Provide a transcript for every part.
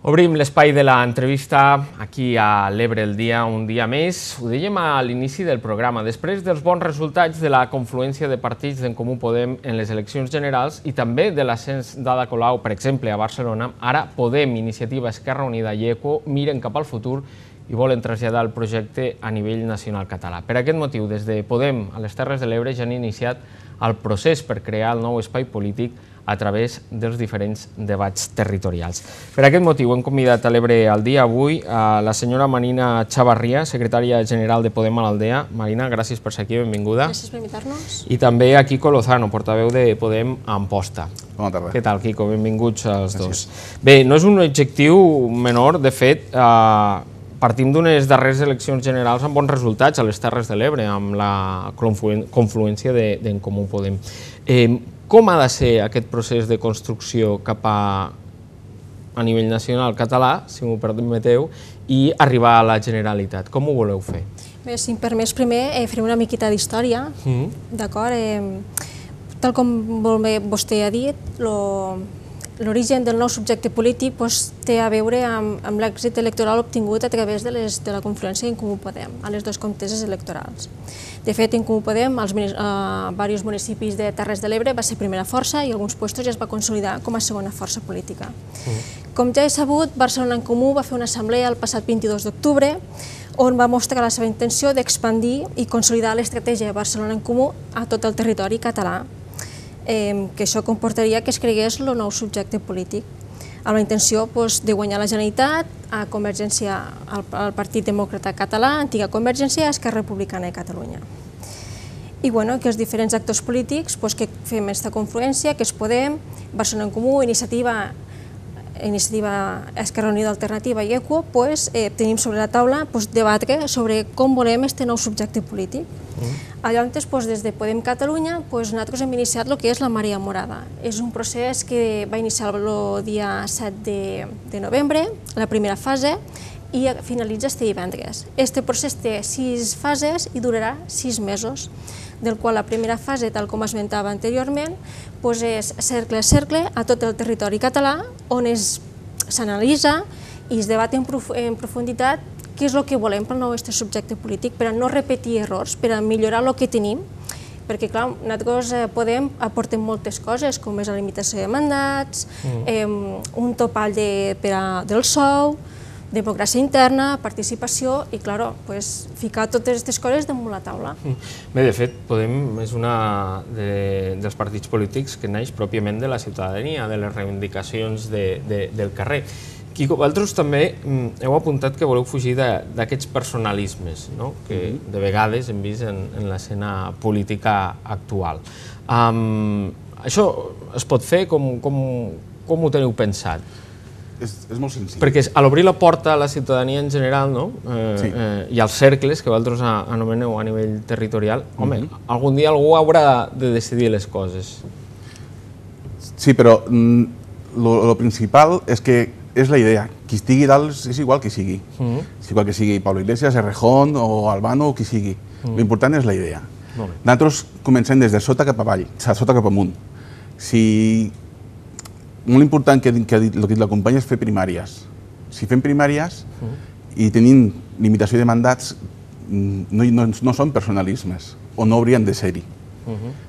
Obrim l'espai de l'entrevista aquí a l'Ebre el dia, un dia més. Ho dèiem a l'inici del programa. Després dels bons resultats de la confluència de partits d'en Comú Podem en les eleccions generals i també de l'ascens d'Ada Colau, per exemple, a Barcelona, ara Podem, Iniciativa, Esquerra Unida i ECO miren cap al futur i volen traslladar el projecte a nivell nacional català. Per aquest motiu, des de Podem a les Terres de l'Ebre ja han iniciat el procés per crear el nou espai polític a través dels diferents debats territorials. Per aquest motiu hem convidat a l'Ebre al dia avui a la senyora Marina Chavarria, secretària general de Podem a l'Aldea. Marina, gràcies per ser aquí, benvinguda. Gràcies per invitar-nos. I també a Quico Lozano, portaveu de Podem a Amposta. Bona tarda. Què tal, Quico? Benvinguts als dos. Bé, no és un objectiu menor, de fet, partim d'unes darreres eleccions generals amb bons resultats a les Terres de l'Ebre, amb la confluència d'en Comú Podem. Com ha de ser aquest procés de construcció cap a nivell nacional català, si m'ho permeteu, i arribar a la Generalitat? Com ho voleu fer? Bé, si em permets, primer farem una miqueta d'història, d'acord? Tal com vostè ha dit, l'origen del nou subjecte polític té a veure amb l'èxit electoral obtingut a través de la confluència en Comú Podem, a les dues conteses electorals. De fet, en Comú Podem, als diversos municipis de Terres de l'Ebre, va ser primera força i alguns llocs ja es va consolidar com a segona força política. Com ja he sabut, Barcelona en Comú va fer una assemblea el passat 22 d'octubre on va mostrar la seva intenció d'expandir i consolidar l'estratègia de Barcelona en Comú a tot el territori català, que això comportaria que es cregués el nou subjecte polític, amb la intenció de guanyar la Generalitat, a Convergència, al Partit Demòcrata Català, antiga Convergència, Esquerra Republicana de Catalunya. I que els diferents actors polítics que fem aquesta confluència, que és Podem, Barcelona en Comú, Iniciativa, Esquerra Unida Alternativa i ECO, tenim sobre la taula debatre sobre com volem aquest nou subjecte polític. Llavors, des de Podem Catalunya, nosaltres hem iniciat el que és la Marea Morada. És un procés que va iniciar el dia 7 de novembre, la primera fase, i finalitza este divendres. Este procés té 6 fases i durarà 6 mesos, del qual la primera fase, tal com esmentava anteriorment, és cercle a cercle a tot el territori català, on s'analitza i es debat en profunditat què és el que volem pel nou subjecte polític, per a no repetir errors, per a millorar el que tenim, perquè, clar, nosaltres Podem aportem moltes coses, com és la limitació de mandats, un topall del sou, democràcia interna, participació i, clar, ficar totes aquestes coses damunt la taula. Bé, de fet, Podem és un dels partits polítics que neix pròpiament de la ciutadania, de les reivindicacions del carrer. Quico, vosaltres també heu apuntat que voleu fugir d'aquests personalismes que de vegades hem vist en l'escena política actual. Això es pot fer? Com ho teniu pensat? És molt senzill. Perquè a l'obrir la porta a la ciutadania en general i als cercles que vosaltres anomeneu a nivell territorial, home, algun dia algú haurà de decidir les coses. Sí, però el principal és que és la idea. Qui estigui dalt és igual que sigui. És igual que sigui Pablo Iglesias, Errejón o Albano o qui sigui. L'important és la idea. Nosaltres comencem des de sota cap avall, de sota cap amunt. Molt important que ha dit el que la companya és fer primàries. Si fem primàries i tenim limitació de mandats, no són personalismes, o no haurien de ser-hi.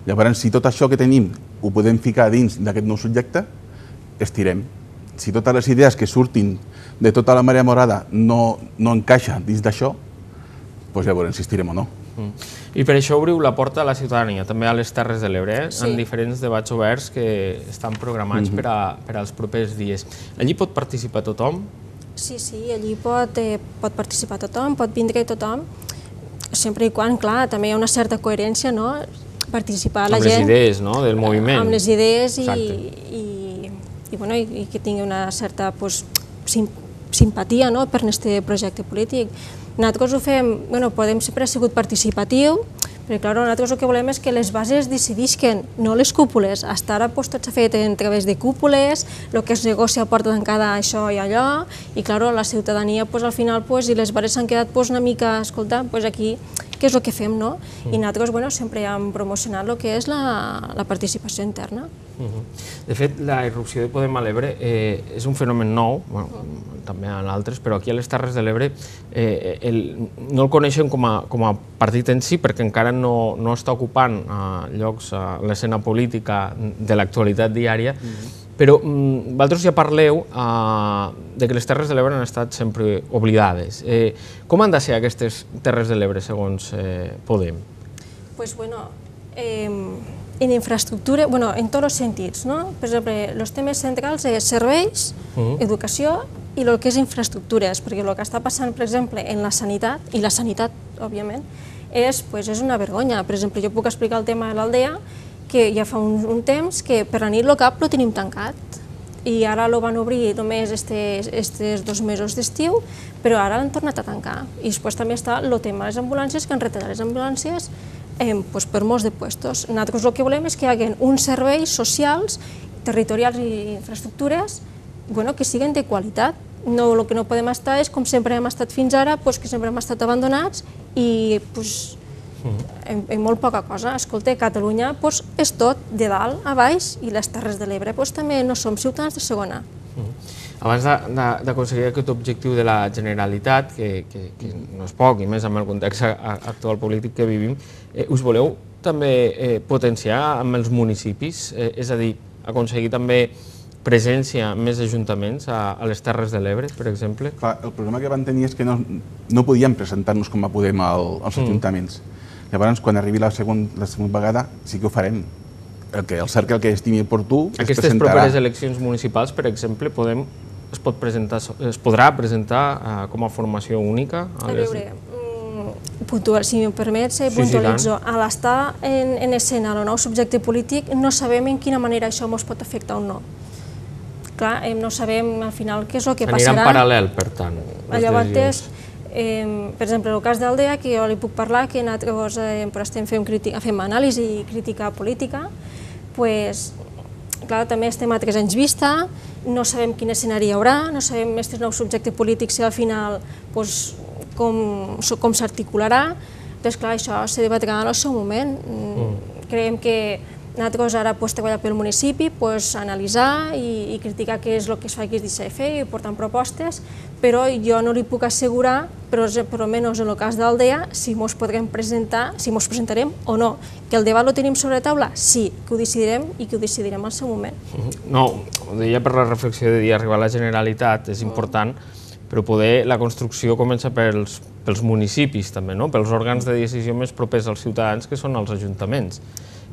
Llavors, si tot això que tenim ho podem ficar dins d'aquest nou subjecte, estirem. Si totes les idees que surtin de tota la Marea Morada no encaixen dins d'això, doncs llavors insistirem o no. I per això obriu la porta a la ciutadania, també a les Terres de l'Ebre, en diferents debats oberts que estan programats per als propers dies. Allí pot participar tothom? Sí, allí pot participar tothom, pot vindre tothom, sempre i quan, clar, també hi ha una certa coherència, no? Participar la gent... Amb les idees, no?, del moviment. Amb les idees i que tingui una certa simpatia per aquest projecte polític. Nosaltres ho fem, Podem sempre ha sigut participatiu, Perquè, clar, nosaltres el que volem és que les bases decidisquen, no les cúpules. Fins ara tot s'ha fet a través de cúpules, el que es negocia a porta tancada això i allò, i, clar, la ciutadania, al final, i les bases s'han quedat una mica, escolta, aquí, què és el que fem, no? I nosaltres sempre hem promocionat el que és la participació interna. De fet, la irrupció de Podem a l'Ebre és un fenomen nou, també en altres, però aquí a les Terres de l'Ebre no el coneixen com a partit en si, perquè encara no està ocupant llocs a l'escena política de l'actualitat diària, però vosaltres ja parleu que les Terres de l'Ebre han estat sempre oblidades. Com han de ser aquestes Terres de l'Ebre, segons Podem? Doncs, bueno, en infraestructura, en tots els sentits, no? Per exemple, els temes centrals és serveis, educació i el que és infraestructures, perquè el que està passant, per exemple, en la sanitat, i la sanitat, òbviament, és una vergonya. Per exemple, jo puc explicar el tema de l'Aldea, que ja fa un temps que per la nit el CAP el tenim tancat i ara el van obrir només aquests 2 mesos d'estiu, però ara l'han tornat a tancar. I després també està el tema de les ambulàncies, que han retallat les ambulàncies per molts de puestos. Nosaltres el que volem és que hi hagi uns serveis socials, territorials i infraestructures que siguin de qualitat. El que no podem estar és com sempre hem estat fins ara, que sempre hem estat abandonats i en molt poca cosa. Escolta, Catalunya és tot, de dalt a baix, i les Terres de l'Ebre també no som ciutadans de segona. Abans d'aconseguir aquest objectiu de la Generalitat, que no és poc, i més amb el context actual polític que vivim, us voleu també potenciar amb els municipis? És a dir, aconseguir també presència en més ajuntaments a les Terres de l'Ebre, per exemple? Clar, el problema que van tenir és que no podíem presentar-nos com a Podem als ajuntaments. Llavors, quan arribi la segona vegada, sí que ho farem. El cercle que estimi oportú es presentarà. Aquestes properes eleccions municipals, per exemple, es podrà presentar com a formació única? A veure, si m'ho permets, puntualitzo. A l'estar en escena el nou subjecte polític, no sabem en quina manera això ens pot afectar o no. Clar, no sabem al final què és el que passarà. Anirà en paral·lel, per tant, les decisions. Per exemple, en el cas d'Aldea, que jo li puc parlar, que nosaltres fem anàlisi i crítica política, clar, també estem a 3 anys vista, no sabem quin escenari hi haurà, no sabem aquest nou subjecte polític si al final com s'articularà. Doncs clar, això se debatrà en el seu moment. Creiem que nosaltres ara treballar pel municipi, analitzar i criticar què és el que es fa aquí es deixa de fer i portant propostes, però jo no li puc assegurar, però almenys en el cas d'Aldea, si ens podrem presentar, si ens presentarem o no. Que el debat el tenim sobre la taula? Sí, que ho decidirem i que ho decidirem al seu moment. No, ho deia per la reflexió de dir arribar a la Generalitat és important, però poder la construcció comença pels municipis també, pels òrgans de decisió més propers als ciutadans, que són els ajuntaments.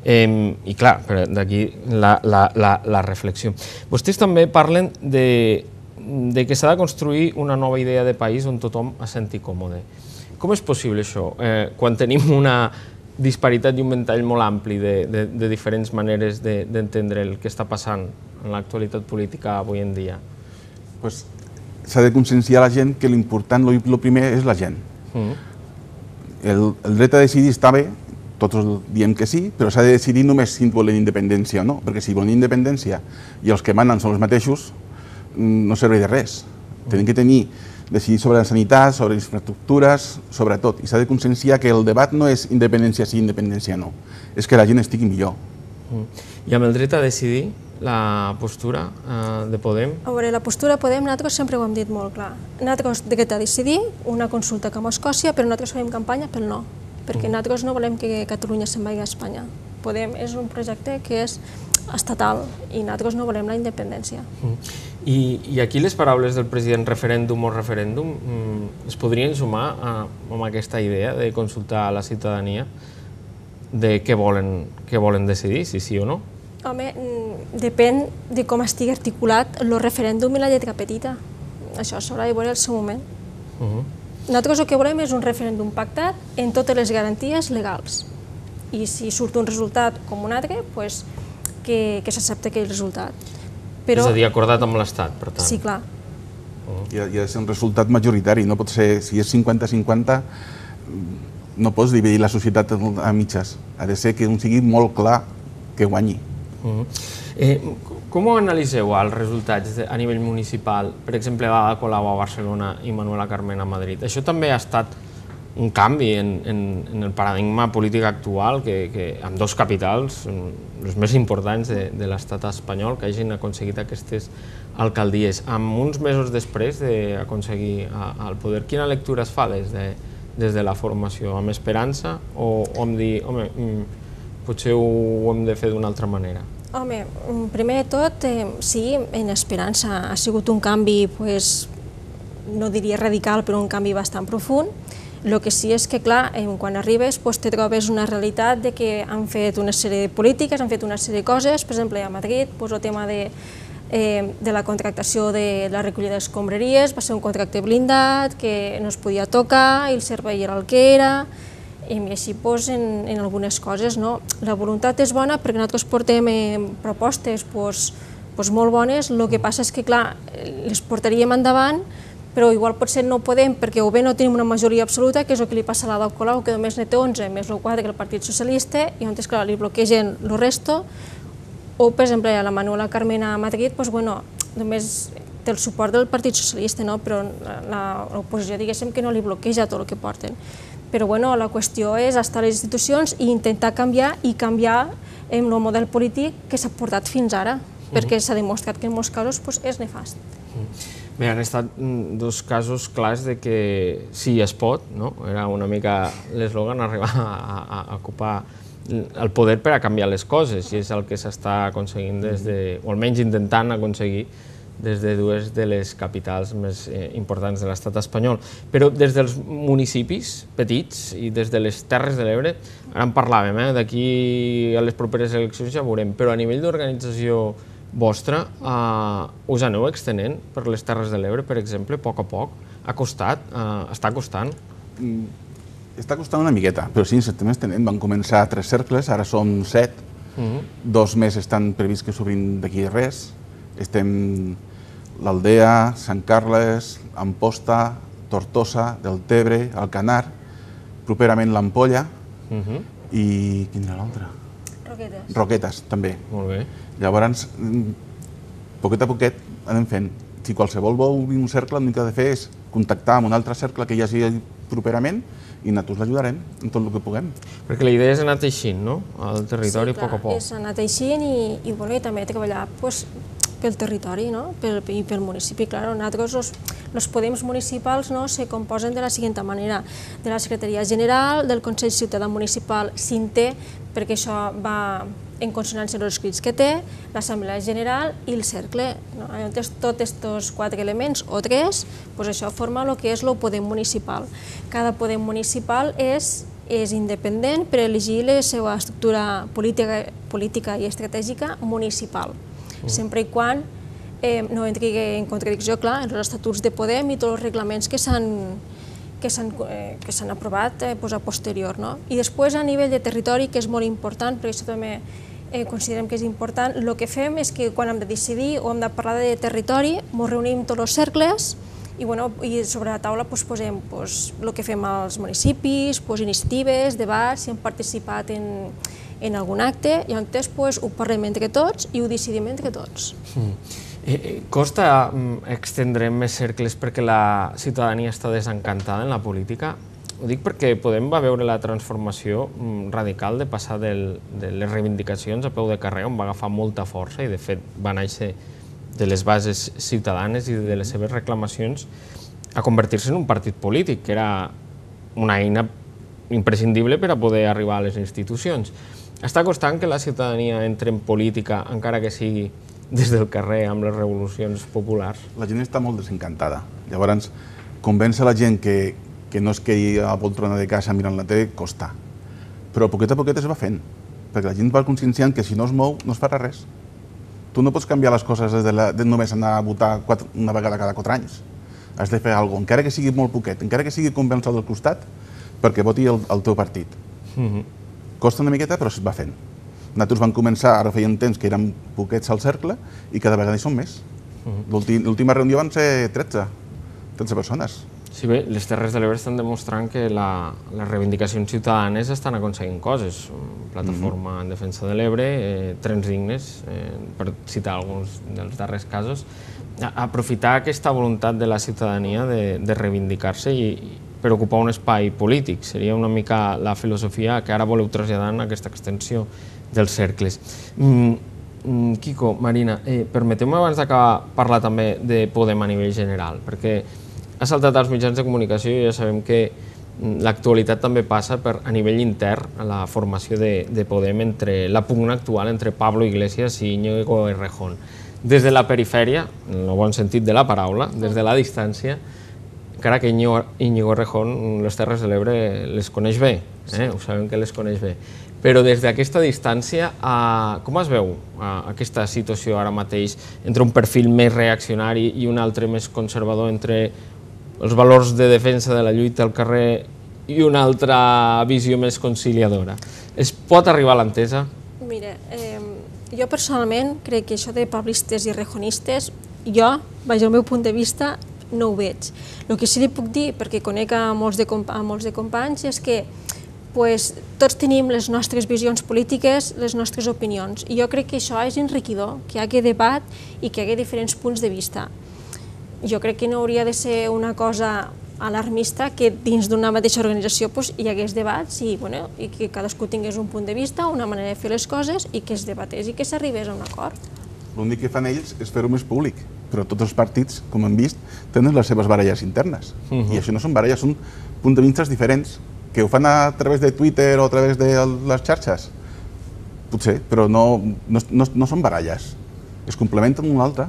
I clar, d'aquí la reflexió. Vostès també parlen de que s'ha de construir una nova idea de país on tothom es senti còmode. Com és possible això, quan tenim una disparitat i un ventall molt ampli de diferents maneres d'entendre el que està passant en l'actualitat política avui en dia? S'ha de conscienciar la gent que l'important, el primer, és la gent. El dret a decidir està bé, tots diem que sí, però s'ha de decidir només si volen independència o no, perquè si volen independència i els que manen són els mateixos, no serveix de res. Tenim que decidir sobre la sanitat, sobre les infraestructures, sobre tot. I s'ha de conscienciar que el debat no és independència sí, independència no. És que la gent estigui millor. I amb el dret a decidir, la postura de Podem? A veure, la postura de Podem, nosaltres sempre ho hem dit molt clar. Nosaltres dret a decidir, una consulta com a Escòcia, però nosaltres farem campanya pel no, perquè nosaltres no volem que Catalunya se'n vagi a Espanya. Podem és un projecte que és estatal i nosaltres no volem la independència. I aquí les paraules del president referèndum o referèndum es podrien sumar amb aquesta idea de consultar a la ciutadania de què volen decidir, si sí o no? Home, depèn de com estigui articulat el referèndum i la lletra petita. Això s'haurà de veure al seu moment. Nosaltres el que volem és un referèndum pactat en totes les garanties legals. I si surt un resultat com un altre, doncs que s'accepta aquell resultat. És a dir, acordat amb l'Estat, per tant. Sí, clar. I ha de ser un resultat majoritari, no pot ser, si és 50-50, No pots dividir la societat a mitges. Ha de ser que un sigui molt clar que guanyi. Com analiseu els resultats a nivell municipal? Per exemple, Ada Colau a Barcelona i Manuela Carmena a Madrid. Això també ha estat un canvi en el paradigma polític actual, que amb dos capitals, els més importants de l'estat espanyol, que hagin aconseguit aquestes alcaldies. Amb uns mesos després d'aconseguir el poder, quina lectura es fa des de la formació? Amb esperança o amb dir, home, potser ho hem de fer d'una altra manera? Home, primer de tot, sí, en esperança. Ha sigut un canvi, no diria radical, però un canvi bastant profund. El que sí és que, clar, quan arribes te trobes una realitat de que han fet una sèrie de polítiques, han fet una sèrie de coses, per exemple, a Madrid, el tema de la contractació de la recollida d'escombraries va ser un contracte blindat, que no es podia tocar, i el servei era el que era, i així en algunes coses. La voluntat és bona perquè nosaltres portem propostes molt bones, el que passa és que, clar, les portaríem endavant, però igual potser no podem perquè o bé no tenim una majoria absoluta, que és el que li passa a l'Ada Colau, que només ne té 11 més el 4 que el Partit Socialista, i llavors, clar, li bloquegen el resto, o, per exemple, a la Manuela Carmena a Madrid, només té el suport del Partit Socialista, però l'oposició, diguéssim, que no li bloqueja tot el que porten. Però la qüestió és estar a les institucions i intentar canviar el model polític que s'ha portat fins ara, perquè s'ha demostrat que en molts casos és nefast. Bé, han estat dos casos clars de que sí es pot, era una mica l'eslògan, arribar a ocupar el poder per a canviar les coses, i és el que s'està aconseguint o almenys intentant aconseguir des de dues de les capitals més importants de l'estat espanyol. Però des dels municipis petits i des de les Terres de l'Ebre, ara en parlàvem, d'aquí a les properes eleccions ja veurem, però a nivell d'organització vostra, us aneu extenent per les Terres de l'Ebre, per exemple, a poc? Ha costat? Està costant? Està costant una miqueta, però sí, ens estem extenent. Van començar 3 cercles, ara són 7. 2 més estan previst que s'obrin d'aquí res. Estem l'Aldea, Sant Carles, Amposta, Tortosa, Deltebre, Alcanar, properament l'Ampolla i quin era l'altre? Roquetes. Roquetes, també. Molt bé. Llavors, poquet a poquet anem fent. Si qualsevol vol obrir un cercle, l'únic que ha de fer és contactar amb un altre cercle que hi hagi properament i nosaltres l'ajudarem en tot el que puguem. Perquè la idea és anar teixint, no?, al territori a poc a poc. Sí, és anar teixint i també treballar pel territori i pel municipi. Nosaltres, els poders municipals se composen de la següent manera: de la Secretaria General, del Consell Ciutadà Municipal Cinté, perquè això va en consonància amb els escrits que té, l'Assemblea General i el Cercle. Tots aquests 4 elements, o 3, això forma el que és el poder municipal. Cada poder municipal és independent per elegir la seva estructura política i estratègica municipal, sempre i quan no entri en contradicció, clar, en els estatuts de Podem i tots els reglaments que s'han aprovat a posterior. I després, a nivell de territori, que és molt important, perquè això també considerem que és important, el que fem és que quan hem de decidir o hem de parlar de territori, ens reunim tots els cercles i sobre la taula posem el que fem als municipis, iniciatives, debats, si hem participat en algun acte, i llavors ho parlem entre tots i ho decidim entre tots. Costa extendre més cercles perquè la ciutadania està desencantada en la política? Ho dic perquè Podem va veure la transformació radical de passar de les reivindicacions a peu de carrer, on va agafar molta força i, de fet, va néixer de les bases ciutadanes i de les seves reclamacions, a convertir-se en un partit polític, que era una eina imprescindible per a poder arribar a les institucions. Està costant que la ciutadania entri en política, encara que sigui des del carrer, amb les revolucions populars? La gent està molt desencantada. Llavors, convèncer la gent que no es quedi a la poltrona de casa mirant la tele costa. Però a poquet es va fent, perquè la gent va conscienciant que si no es mou no es farà res. Tu no pots canviar les coses de només anar a votar una vegada cada 4 anys. Has de fer alguna cosa, encara que sigui molt poquet, encara que sigui convèncer del costat, perquè voti el teu partit. Costa una miqueta, però es va fent. Nosaltres vam començar, ara feien temps que érem poquets al cercle, i cada vegada hi som més. L'última reunió van ser 13 persones. Sí, bé, les Terres de l'Ebre estan demostrant que les reivindicacions ciutadanes estan aconseguint coses. Plataforma en defensa de l'Ebre, trens dignes, per citar alguns dels darrers casos. Aprofitar aquesta voluntat de la ciutadania de reivindicar-se i per ocupar un espai polític. Seria una mica la filosofia que ara voleu traslladar en aquesta extensió dels cercles. Quico, Marina, permeteu-me abans d'acabar parlar també de Podem a nivell general, perquè ha saltat als mitjans de comunicació i ja sabem que l'actualitat també passa per a nivell intern a la formació de Podem entre la pugna actual entre Pablo Iglesias i Íñigo Errejón. Des de la perifèria, en el bon sentit de la paraula, des de la distància, encara que Íñigo Errejón les Terres de l'Ebre les coneix bé, ho sabem que les coneix bé, però des d'aquesta distància, com es veu aquesta situació ara mateix entre un perfil més reaccionari i un altre més conservador, entre els valors de defensa de la lluita al carrer i una altra visió més conciliadora? Es pot arribar a l'entesa? Mira, jo personalment crec que això de pablistes i rejonistes, jo, vaja, el meu punt de vista, no ho veig. El que sí li puc dir, perquè conec a molts de companys, és que tots tenim les nostres visions polítiques, les nostres opinions, i jo crec que això és enriquidor, que hi hagi debat i que hi hagi diferents punts de vista. Jo crec que no hauria de ser una cosa alarmista que dins d'una mateixa organització hi hagués debats i que cadascú tingués un punt de vista, una manera de fer les coses i que es debatés i que s'arribés a un acord. L'únic que fan ells és fer-ho més públic, però tots els partits, com hem vist, tenen les seves baralles internes. I això no són baralles, són punts de vista diferents, que ho fan a través de Twitter o a través de les xarxes. Potser, però no són baralles. Es complementen un altre.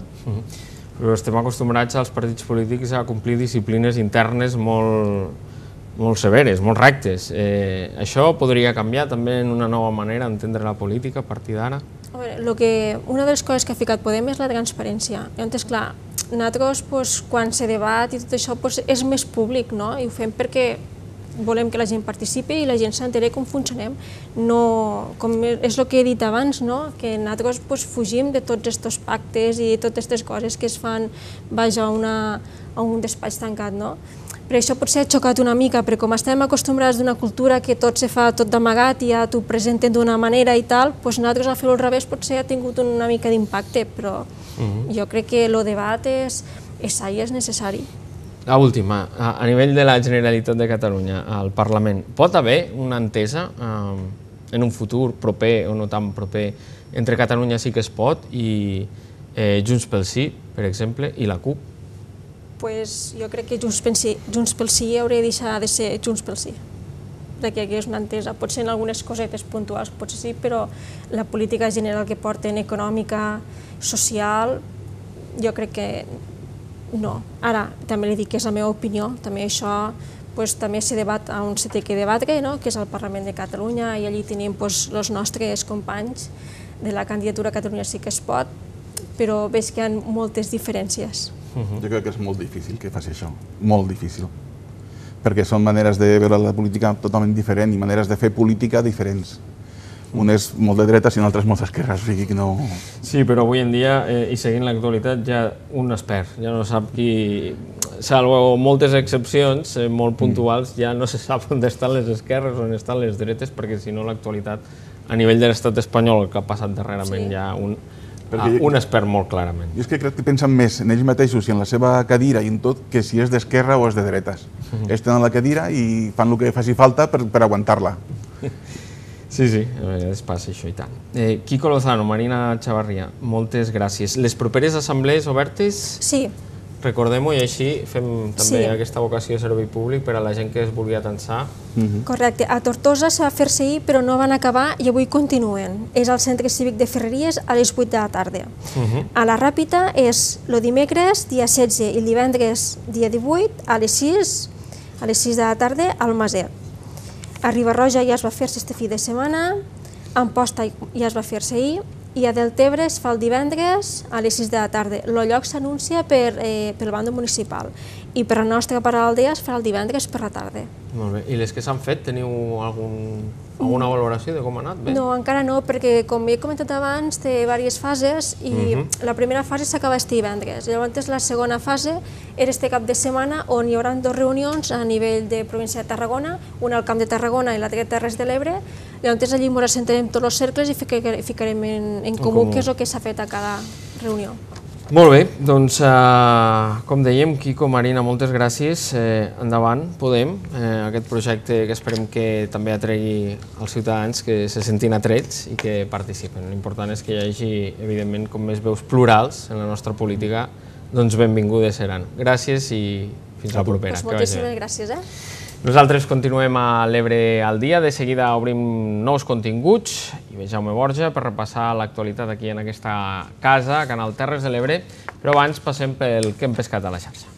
Però estem acostumbrats als partits polítics a complir disciplines internes molt severes, molt rectes. Això podria canviar també en una nova manera d'entendre la política a partir d'ara? Una de les coses que ha ficat Podem és la transparència. Llavors, clar, nosaltres, quan se debat i tot això, és més públic, no? I ho fem perquè volem que la gent participi i la gent s'enteri com funcionem. És el que he dit abans, que nosaltres fugim de tots aquests pactes i totes aquestes coses que es fan a un despatx tancat. Per això potser ha xocat una mica, perquè com estem acostumbrats d'una cultura que tot se fa tot d'amagat i ja t'ho presenten d'una manera i tal, nosaltres al fer-ho al revés potser ha tingut una mica d'impacte, però jo crec que el debat és sa i és necessari. L'última, a nivell de la Generalitat de Catalunya, al Parlament, pot haver una entesa en un futur proper o no tan proper entre Catalunya Sí que es pot i Junts pel Sí, per exemple, i la CUP? Jo crec que Junts pel Sí hauria de deixar de ser Junts pel Sí, perquè aquí és una entesa. Potser en algunes cosetes puntuals potser sí, però la política general que porten, econòmica, social, jo crec que no. Ara, també li dic que és la meva opinió, també això també se debat on se té que debatre, que és al Parlament de Catalunya, i allí tenim els nostres companys de la candidatura Catalunya Sí que es pot, però veig que hi ha moltes diferències. Jo crec que és molt difícil que faci això, molt difícil, perquè són maneres de veure la política totalment diferents i maneres de fer política diferents. Un és molt de dretes i un altre és molt d'esquerres, o sigui que no... Sí, però avui en dia, i seguint l'actualitat, ja un es perd, ja no sap qui... Salvo moltes excepcions molt puntuals, ja no se sap on estan les esquerres o on estan les dretes, perquè si no l'actualitat, a nivell de l'estat espanyol, el que ha passat darrerament, ja un es perd molt clarament. Jo és que crec que pensen més en ells mateixos i en la seva cadira i en tot que si és d'esquerra o és de dretes. Ells tenen la cadira i fan el que faci falta per aguantar-la. Sí, a vegades passa això i tant. Quico Lozano, Marina Chavarria, moltes gràcies. Les properes assemblees obertes? Sí. Recordem-ho i així fem també aquesta vocació de servei públic per a la gent que es vulgui atensar. Correcte. A Tortosa se va fer-se ahir, però no van acabar i avui continuen. És al Centre Cívic de Ferreries a les 8 de la tarda. A la Ràpita és el dimecres, dia 16, i el divendres, dia 18, a les 6 de la tarda, al Maset. A Riba-roja ja es va fer-se este fi de setmana, a Amposta ja es va fer-se ahir, i a Deltebre es fa el divendres a les 6 de la tarda. El lloc s'anuncia pel bàndol municipal i per la nostra part a l'aldea es farà el divendres per la tarda. Molt bé. I les que s'han fet, teniu alguna valoració de com ha anat? No, encara no, perquè com he comentat abans, té diverses fases i la primera fase s'acaba este divendres. Llavors la segona fase era este cap de setmana on hi haurà 2 reunions a nivell de província de Tarragona, una al Camp de Tarragona i l'altra a Terres de l'Ebre. Llavors allí ens assentarem tots els cercles i ficarem en comú què és el que s'ha fet a cada reunió. Molt bé, doncs com dèiem, Quico, Marina, moltes gràcies. Endavant, Podem, aquest projecte que esperem que també atregui els ciutadans que se sentin atrets i que participen. L'important és que hi hagi, evidentment, com més veus plurals en la nostra política, doncs benvingudes seran. Gràcies i fins la propera. Moltíssimes gràcies. Nosaltres continuem a l'Ebre al dia, de seguida obrim nous continguts i ve Jaume Borja per repassar l'actualitat aquí en aquesta casa, Canal Terres de l'Ebre, però abans passem pel que hem pescat a la xarxa.